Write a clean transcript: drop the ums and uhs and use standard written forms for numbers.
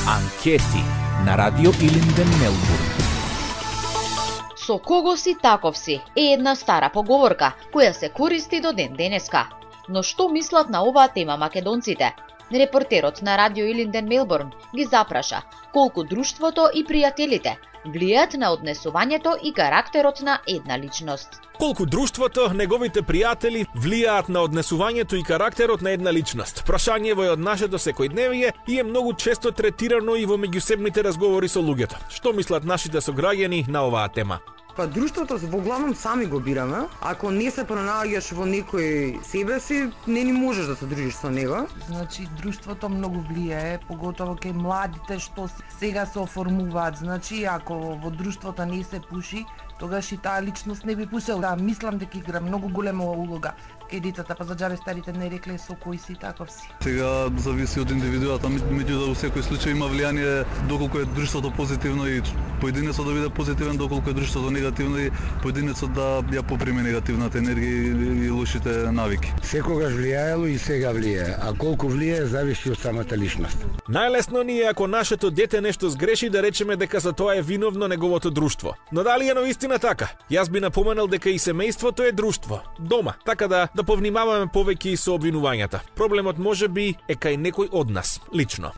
Анкети на Радио Илинден, Мелбурн. Со кого си таков си е една стара поговорка која се користи до ден денеска. Но што мислат на оваа тема македонците? Репортерот на Радио Илинден, Мелбурн ги запраша колку друштвото и пријателите влијаат на однесувањето и карактерот на една личност. Колку друштвото, неговите пријатели влијаат на однесувањето и карактерот на една личност. Прашањево е од нашето секојдневие и е многу често третирано и во меѓусебните разговори со луѓето. Што мислат нашите сограѓани на оваа тема? Па друштвото во главном сами го бираме. Ако не се пронаѓаш во некој себе си, не ни можеш да се дружиш со него. Значи друштвото многу влијае, поготово кај младите што сега се оформуваат. Значи ако во друштвото не се пуши, тогаш и таа личност не би пушел. Да, мислам дека игра многу голема улога кај децата, па за џабе старите не рекле со кој си таков си. Сега зависи од индивидуата, меѓутоа во секој случај има влијание доколку е друштвото позитивно и поединецот да биде позитивен, доколку е друштвото негативно и поединецот да ја поприме негативната енергија и лошите навики. Секогаш влијаело и сега влијае, а колку влијае зависи од самата личност. Најлесно ни е ако нашето дете нешто сгреши да речеме дека за тоа е виновно неговото друштво. Но дали е навистина така? Јас би напоменал дека и семејството е друштво, дома, така да повнимаваме повеќе и со обвинувањата. Проблемот можеби е кај некој од нас, лично.